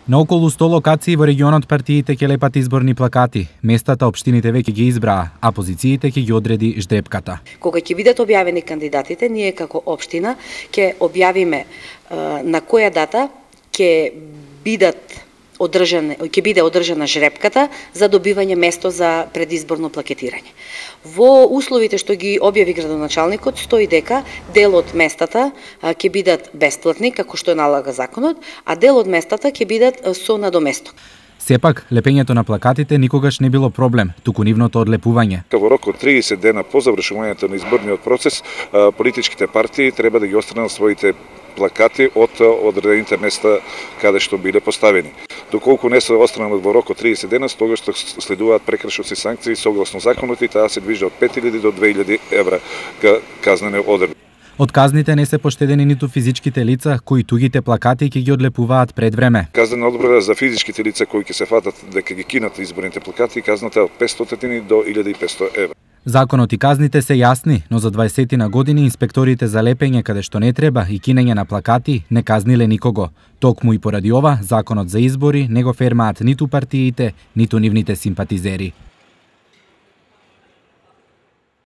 На околу 100 локации во регионот партиите ќе лепат изборни плакати. Местата општините веќе ги избраа, а позициите ќе ги одреди ждрепката. Кога ќе бидат објавени кандидатите, ние како општина ќе објавиме на која дата ќе биде одржана жрепката за добивање место за предизборно плакетирање. Во условите што ги објави градоначалникот стои дека дел од местата ќе бидат бесплатни, како што налага законот, а дел од местата ќе бидат со надоместок. Сепак, лепењето на плакатите никогаш не било проблем, туку нивното одлепување. Во рок од 30 дена по завршувањето на изборниот процес, политичките партии треба да ги отстранат своите плакати од одредените места каде што биле поставени. Доколку не се отстранат во рок од 30 дена, тогаш следуваат прекршоци санкции согласно законот и таа се движи од 5000 до 2000 евра казнени одредби. Од казните не се поштедени ниту физичките лица кои тугите плакати ќе ги одлепуваат пред време. Казнена одредба за физичките лица кои ќе се фатат дека ги кинат изборните плакати, казната е од 500 до 1500 евра. Законот и казните се јасни, но за 20 години инспекторите за лепење каде што не треба и кинење на плакати не казниле никого. Токму и поради ова, законот за избори не го фермаат ниту партиите, ниту нивните симпатизери.